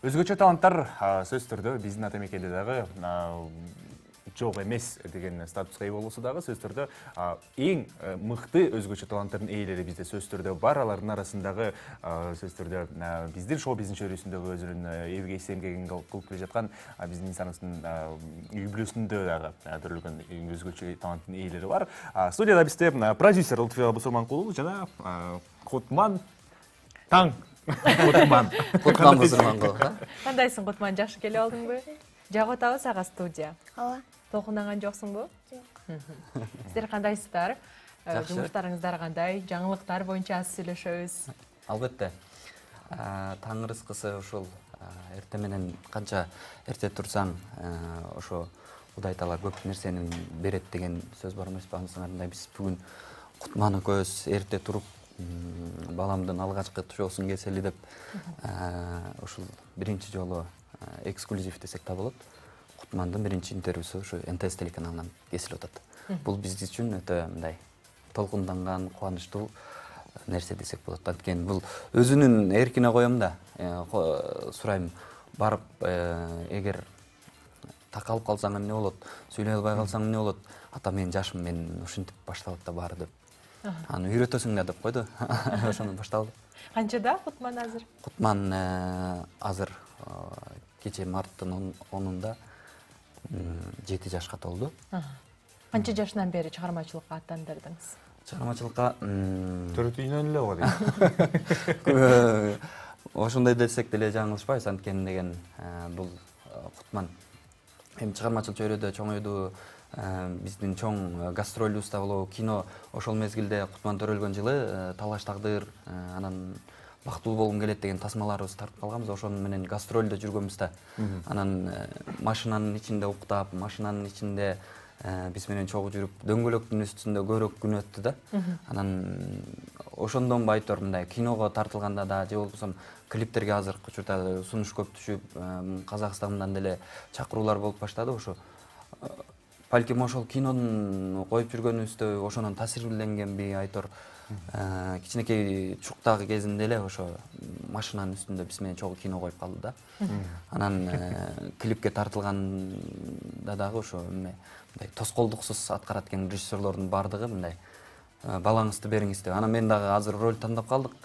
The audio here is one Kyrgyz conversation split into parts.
Өзгөчө таланттар сөзсүз түрдө биздин ата мекенде дагы жок эмес деген статуска ээ болуусу дагы сөзсүз түрдө эң мыкты өзгөчө таланттардын ээлери бизде сөзсүз түрдө бар. Алардын арасындагы сөзсүз түрдө биздин шоу биздин чөйрөсүндөгү өзүнүн элге эмгегин кылып келе жаткан биздин инсаныбыздын үй бүлөсүндө дагы төрөлгөн өзгөчө таланттын ээлери бар. Студияда бизде продюсер Лутфия Бусурманкулу жана Кутман Таң Кутман Бусурманкулу. Кандайсың, Кутман? Жакшы келип алдыңбы? Жагып атабы сага студия? Ооба. Толкундаган жоксуңбу? Сиздер кандайсыздар? Жумуштарыңыздар кандай? Жаңылыктар боюнча аз сүйлөшөбүз. Албетте. Таң рызкысы ушул эрте менен канча эрте турсаң, ошо Кудай Таала көп нерсени берет деген сөз бар эмеспи? Анысыңарындай биз бүгүн Кутман экөөбүз эрте туруп, баламдын алгачкы шоусун кесели деп ушул биринчи жолу эксклюзив десек да болот. Кутмандын биринчи интервьюсу ушу НТС телеканалынан кесилип атат. Бул биз үчүн өтө мындай толкунданган, кубанычтуу нерсе десек болот. Анткени бул өзүнүн эркине коем да. Сурайм, барып эгер такалып калсаң эмне болот, сүйлөй албай калсаң эмне болот? Ата менин жашым мен ушинтип башталат да баары деп. Аны үйрөтөсүң да деп койду. Ошондон башталды. Канчада Кутман азыр? Кутман азыр кече марттын 10-унда 7 жашка толду. Канча жашынан бери чыгармачылыкка аттандырдыңыз? Чыгармачылыкка 4 үйнөн эле го дейм. Ошондой десек деле жаңылышпайбыз, анткени деген бул Кутман эми чыгармачыл чөйрөдө чоңойду. Биздин чоң гастролубуз да болобу, кино ошол мезгилде Кутман төрөлгөн жылы Талаш тагдыр, анан Бактылуу болгум келет деген тасмаларыбызды тартып калганбыз. Ошонун менен гастролдо жүргөнбүз да. Анан машинанын ичинде уктап, машинанын ичинде биз менен чогуу жүрүп, дөңгөлөктүн үстүндө көбүрөөк күн өттү да. Анан ошондон байтор мындай киного тартылганда да, же болбосо клиптерге азыркы учурда сунуш көп түшүп, Казакстандан деле чакыруулар болуп баштады. Ошо балким ошол кинонун коюп жүргөнүбүздө ошонун таасирленгенби айтор. Кичинекей чуктагы кезинде эле ошо машинанын үстүндө биз менен чогуу кино коюп калды да. Анан клипке тартылганда дагы ошо мындай тоскоолдуксуз аткарат экен режиссерлордун баардыгы мындай балаңызды бериңиз деп. Анан мен дагы азыр роль тандап калдык.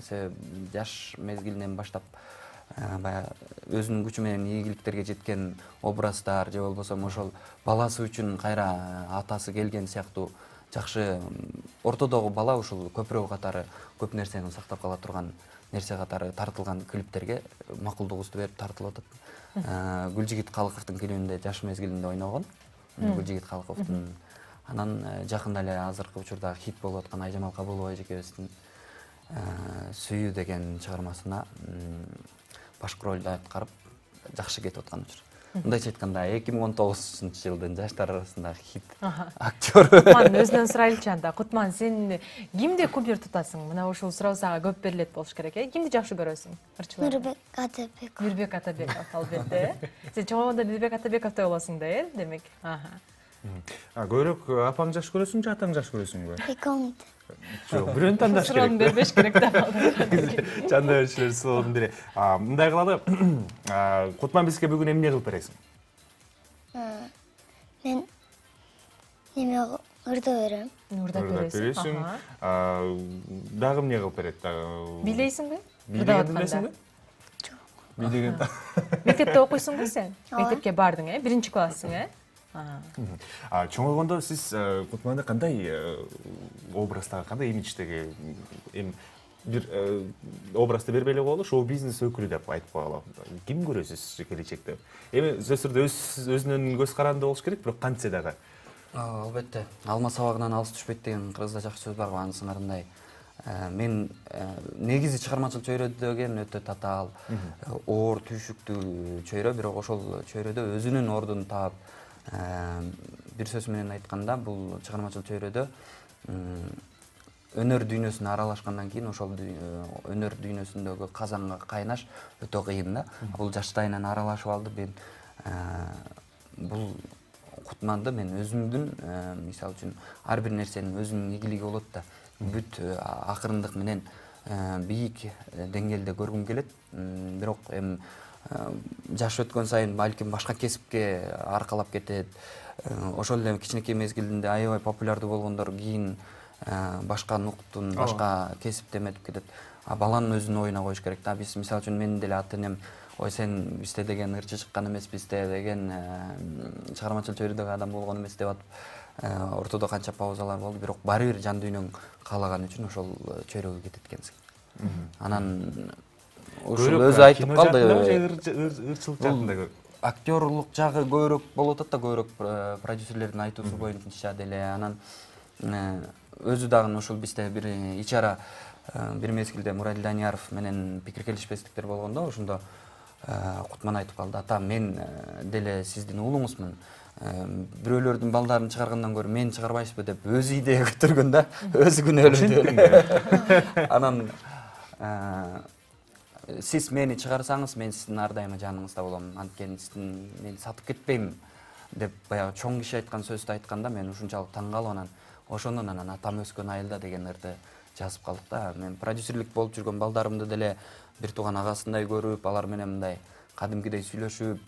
Себеби жаш мезгилинен баштап баягы өзүнүн күчү менен ийгиликтерге жеткен образдар же болбосо ошол баласы үчүн кайра атасы келген сыяктуу жакшы ортодогу бала ушул көпүрө катары көп нерсени сактап кала турган нерсе катары тартылган клиптерге макулдугубузду берип тартылып атат. Гүлжигит Калыковдун клибинде жаш мезгилинде ойногон. Гүлжигит Калыковдун анан жакында эле азыркы учурда хит болуп аткан Айжамал Кабылова эжекебиздин Сүйүү деген чыгармасына башкы ролду аткарып жакшы кетип аткан учур. Мындайча айтканда 2019-жылдын жаштар арасындагы хит актер. Кутман, өзүнөн сурайлычы анда. Кутман, сен кимди кумир тутасың? Мына ушул суроо сага көп берилет болуш керек, Кимди жакшы көрөсүң? Нурбек Атабеков. Нурбек Атабеков, албетте. Сен чоңойгондо Нурбек Атабековтой болосуң да, демек. Көбүрөөк апаң жакшы көрөсүң же атаң жакшы көрөсүңбү? Экөөңдү. Жок, бирөөнү тандаш керек. Суроону бербеш керек да. Жанда беришилер суроонун бири. Мындай кылалы. Кутман, бизге бүгүн эмне кылып бересиң? Мен неме ырдап берем. Ырдап бересиң. Дагы эмне кылып берет? Бийлейсиңби? Бийлеген билесиңби? Жок. Бийлеген. Мектепте окуйсуңбу сен? Мектепке бардың, биринчи классың, Чоңойгондо сиз Кутманды кандай образдагы, кандай имидждеги бир образды бербей эле коелу, шоу-бизнес өкүлү деп айтып коелу. Ким көрөсүз келечекте? Эми сөзсүз түрдө өзүнүн көз каранды болуш керек, бирок кантсе дагы. Албетте. Алма сабагынан алыс түшпөйт деген кыргызда жакшы сөз бар го, анысыңарындай. Мен негизи чыгармачыл чөйрө деген өтө татаал, оор, түйшүктүү чөйрө, бирок ошол чөйрөдө өзүнүн ордун таап, бир сөз менен айтканда, бул чыгармачыл чөйрөдө өнөр дүйнөсүнө аралашкандан кийин ошол өнөр дүйнөсүндөгү казанга кайнаш өтө кыйын да. Бул жаштайынан аралашып алды. Мен бул Кутманды мен өзүмдүн мисалы үчүн ар бир нерсенин өзүнүн ийгилиги болот да. Бүт акырындык менен бийик деңгээлде көргүм келет. Бирок эми жаш өткөн сайын балким башка кесипке аркалап кетет. Ошол эле кичинекей мезгилинде аябай популярдуу болгондор кийин башка нуктун, башка кесипти эметип кетет. А баланын өзүнүн оюна коюш керек да. Биз мисалы үчүн менин деле ата энем ой сен бизде деген ырчы чыккан эмеспиз деген чыгармачыл чөйрөдөгү адам болгон эмес деп атып ортодо канча паузалар болду, бирок баары бир жан дүйнөң каалаган үчүн ошол чөйрөгө кетет экенсиң. Анан ушул өзү айтып калды. Ырчылык жагында көп. Актерлук жагы көбүрөөк болуп атат да, көбүрөөк продюсерлердин айтуусу боюнча деле. Анан өзү дагы ушул бизде бир ичара бир мезгилде Муралил Данияров менен пикир келишпестиктер болгондо, ошондо Кутман айтып калды: ата, мен деле сиздин уулуңузмун. Бирөөлөрдүн балдарын чыгаргандан көрө мени чыгарбайсызбы деп өзү идея көтөргөн да, өзү күнөөлөдү. Анан сиз мени чыгарсаңыз, мен сиздин ар дайыма жаныңызда болом. Анткени мен сатып кетпейм деп баягы чоң киши айткан сөздү айтканда мен ушунчалык таң калып, анан ошондон анан атам өскөн айылда деген ырды жазып калдык да. Мен продюсерлик болуп жүргөн балдарымды деле бир тууган агасындай көрүп, алар менен мындай кадимкидей сүйлөшүп,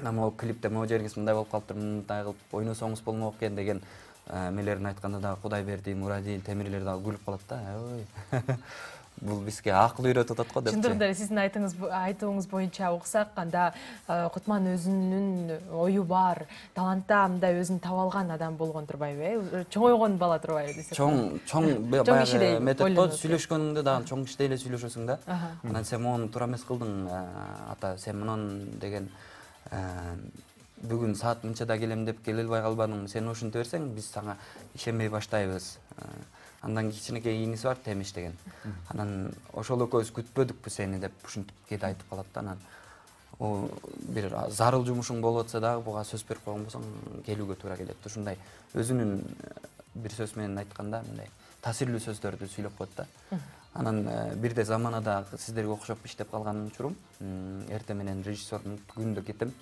могу клипте могу жериңиз мындай болуп калыптыр, мындай кылып ойносоңуз болмок экен деген эмелерин айтканда дагы Кудайберди, Мурадил, Темирлер дагы күлүп калат да. Ой. Бул бизге акыл үйрөтүп атат го деп. Чындыгында сиздин айтууңуз боюнча уксак, анда Кутман өзүнүн ою бар, талантта мындай өзүн таба алган адам болгон турбайбы? Чоңойгон бала турбайбы десек? Чоң баягы метод го, сүйлөшкөнүңдө дагы чоң кишидей эле сүйлөшөсүң да. Анан сен мону туура эмес кылдың, ата, сен мунун деген бүгүн саат мынчада келем деп келе албай калбадың. Сен ушинте берсең, биз сага ишенбей баштайбыз. Андан кичинекей ийниси бар, Темиш деген. Анан ошол экөөбүз күтпөдүкпү сени деп ушинтип кете айтып калат да. Анан бир зарыл жумушуң болуп атса дагы буга сөз берип койгон болсоң келүүгө туура келет. Ушундай өзүнүн бир сөз менен айтканда мындай таасирлүү сөздөрдү сүйлөп коет да. Анан бирде заманада сиздерге окшоп иштеп калган учурум, эртең менен режиссердун күндө кетем.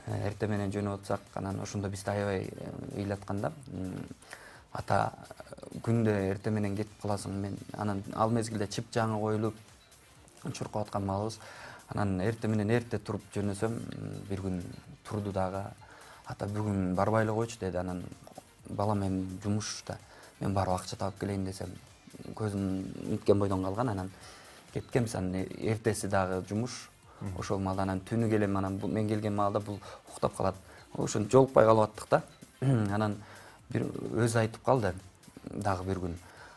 Эртең менен жөнөп атсак, анан ошондо бизди аябай ыйлатканда, ата, күндө эртең менен кетип каласың. Мен анан ал мезгилде чып жаңы коюлуп чуркап аткан малыбыз. Анан эртең менен эрте туруп жөнөсөм, бир күн турду дагы. Ата, бүгүн барбай эле койчу деди. Анан балам, эми жумушта, мен барып акча таап келейин десем, көзүм үткөн бойдон калган. Анан кеткенбиз. Анан эртеси дагы жумуш. Ошол маалда анан түнү келем. Анан мен келген маалда бул уктап калат. Ошон жолукпай калып аттык да. Анан бир өзү айтып калды дагы бир күн: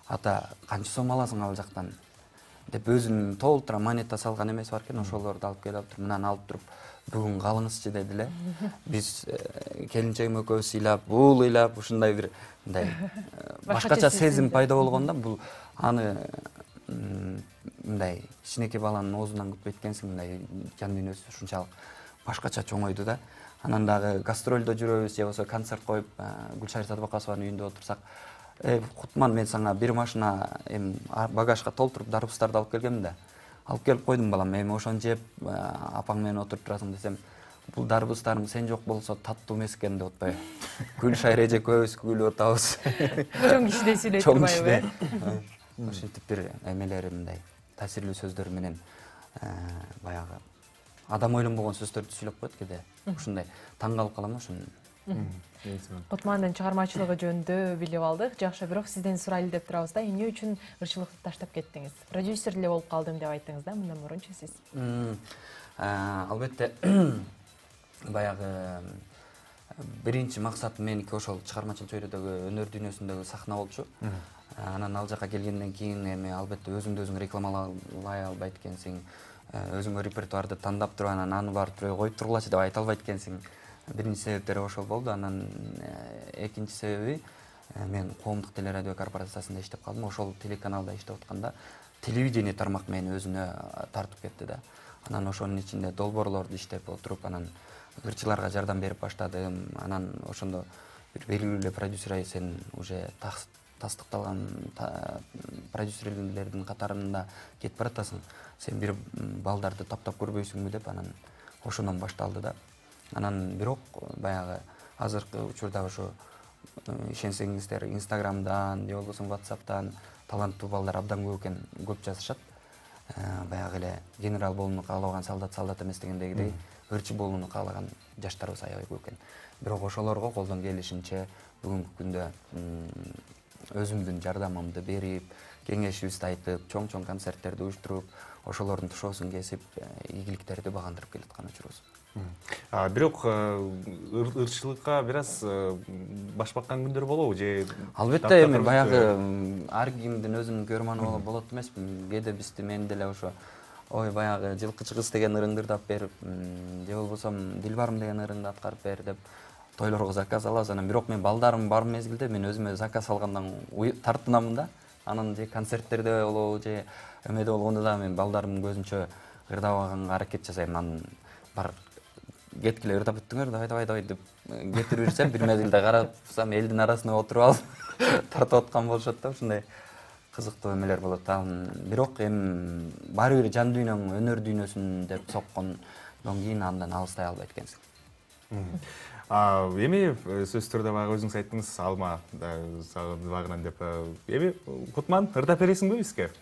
ата, канча сом аласың ал жактан деп, өзүнүн толтура монета салган эмеси бар экен, ошолорду алып келип туруп, мынаны алып туруп, бүгүн калыңызчы деди эле. Биз келинчегим экөөбүз ыйлап, бул ыйлап, ушундай бир мындай башкача сезим пайда болгон да. Бул аны мындай кичинекей баланын оозунан күтпөйт экенсиң, мындай жан дүйнөсү ушунчалык башкача чоңойду да. Анан дагы гастролдо жүрөбүз, же болбосо концерт коюп, Гүлшара Садыбакасованын үйүндө отурсак, Кутман, мен сага бир машина багажга толтуруп дарбыздарды алып келгем да. Алып келип койдум балам, эми ошону жеп апаң менен отуруп турасың десем, бул дарбыздарым сен жок болсо таттуу эмес экен деп атпайбы. Гүлшара эже экөөбүз күлүп атабыз. Чоң кишидей сүйлөйт турбайбы? Ушинтип бир эмелери мындай таасирлүү сөздөр менен баягы адам ойлонбогон сөздөрдү сүйлөп коет кээде. Ушундай таң калып калам ошону. Кутмандын чыгармачылыгы жөнүндө билип алдык. Жакшы, бирок сизден сурайлы деп турабыз да, эмне үчүн ырчылыкты таштап кеттиңиз? Продюсер эле болуп калдым деп айттыңыз да, мындан мурунчу сиз. Албетте баягы биринчи максатым меники ошол чыгармачыл чөйрөдөгү өнөр дүйнөсүндөгү сахна болчу. Анан ал жака келгенден кийин эми албетте өзүңдү өзүң рекламалай албайт экенсиң. Өзүңө репертуарды тандап туруп, анан аны барып коюп тургулачы деп айта албайт экенсиң. Биринчи себептери ошол болду. Анан экинчи себеби, мен коомдук телерадио корпорациясында иштеп калдым. Ошол телеканалда иштеп атканда телевидение тармак мени өзүнө тартып кетти да. Анан ошонун ичинде долбоорлорду иштеп отуруп, анан ырчыларга жардам берип баштадым. Анан ошондо бир белгилүү эле продюсер: сен уже тастыкталган продюсерлердин катарында кетип баратасың. Сен бир балдарды таптап көрбөйсүңбү деп, анан ошондон башталды да. Анан бирок баягы азыркы учурда ошо ишенсеңиздер Инстаграмдан же болбосо WhatsApp'тан таланттуу балдар абдан көп экен, көп жазышат. баягы эле генерал болууну каалаган солдат эмес дегендегидей ырчы болууну каалаган жаштарыбыз аябай көп экен. Бирок ошолорго колдон келишинче бүгүнкү күндө өзүмдүн жардамымды берип, кеңешибизди айтып, чоң концерттерди уюштуруп, ошолордун тушоосун кесип, ийгиликтерди багындырып келаткан учурубуз. Бирок ырчылыкка бир аз баш баккан күндөр болобу же? Албетте, эми баягы ар кимдин өзүнүн көрманы болот эмеспи. Кээде мен деле ошо ой баягы жылкычы кыз деген ырыңдарды алып берип, же болбосо Дилбарым деген ырыңды аткарып бер деп тойлорго заказ алабыз. Анан бирок мен балдарым бар мезгилде мен өзүмө заказ алгандан тартынамын да. Анан же концерттерде болобу же эмеде болгондо да мен балдарымдын көзүнчө ырдабаганга аракет жасайм. Анан бар кеткиле ырдап бүттүңөр, давай деп кетирип берсем, бир мезгилде карасам элдин арасына отуруп алып тартып аткан болушат да, ушундай кызыктуу эмелер болот. Бирок эми баары бир жан дүйнөң, өнөр дүйнөсүн деп соккондон кийин андан алыстай албайт экенсиң. Эми сөзсүз түрдө баягы өзүңүз айттыңыз, алма сагынбагынан деп. Эми Кутман ырдап бересиңби бизге?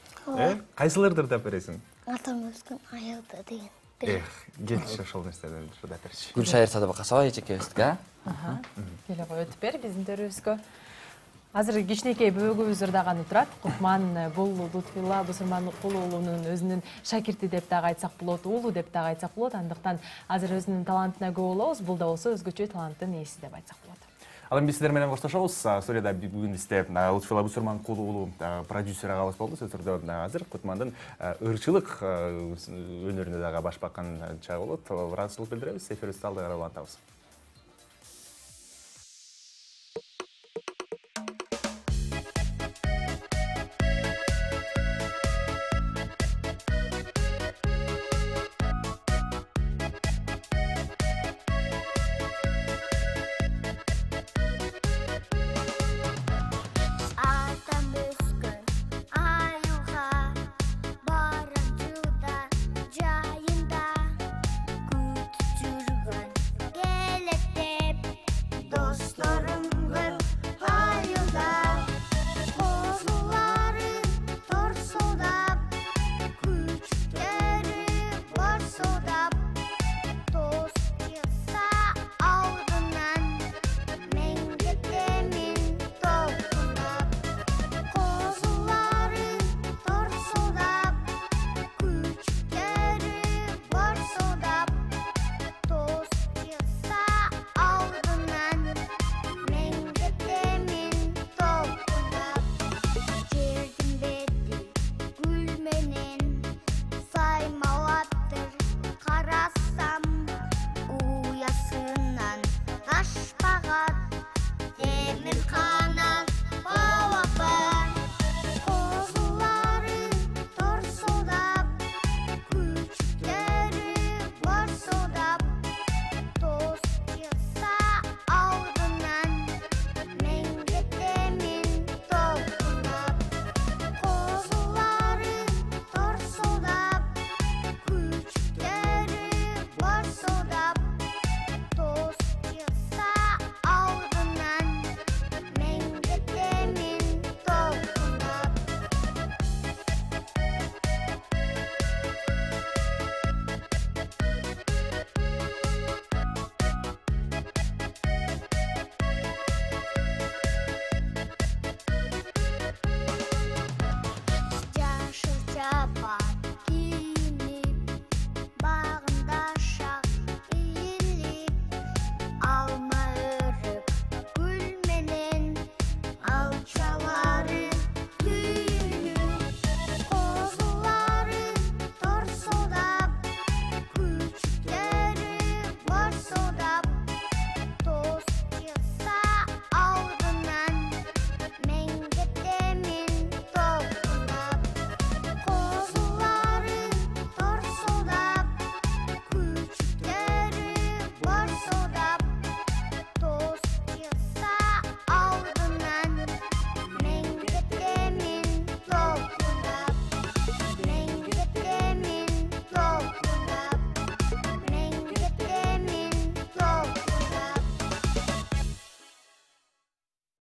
Кайсыларды ырдап бересиң? Атам өскөн аялда деген. Кетчи ошол нерседен ырдап берчи. Гүлшайыр Садыбакасова эчекебиздики, Келе кой өтүп бер биздин төрүбүзгө. Азыр кичинекей бөөгүбүз ырдаганы турат. Кутман бул Лутфулла Бусурманкул уулунун өзүнүн шакирти деп дагы айтсак болот, уулу деп дагы айтсак болот. Андыктан азыр өзүнүн талантына күбө болобуз. Бул да болсо өзгөчө таланттын ээси деп айтсак болот. Ал эми биз сиздер менен коштошобуз. Студияда бүгүн бизде Лутфулла Бусурманкул уулу продюсер агабыз болду. Сөзсүз түрдө азыр Кутмандын ырчылык өнөрүнө дагы баш баккан чагы болот. Ыраазычылык билдиребиз. Эфирибизди алда карай улантабыз.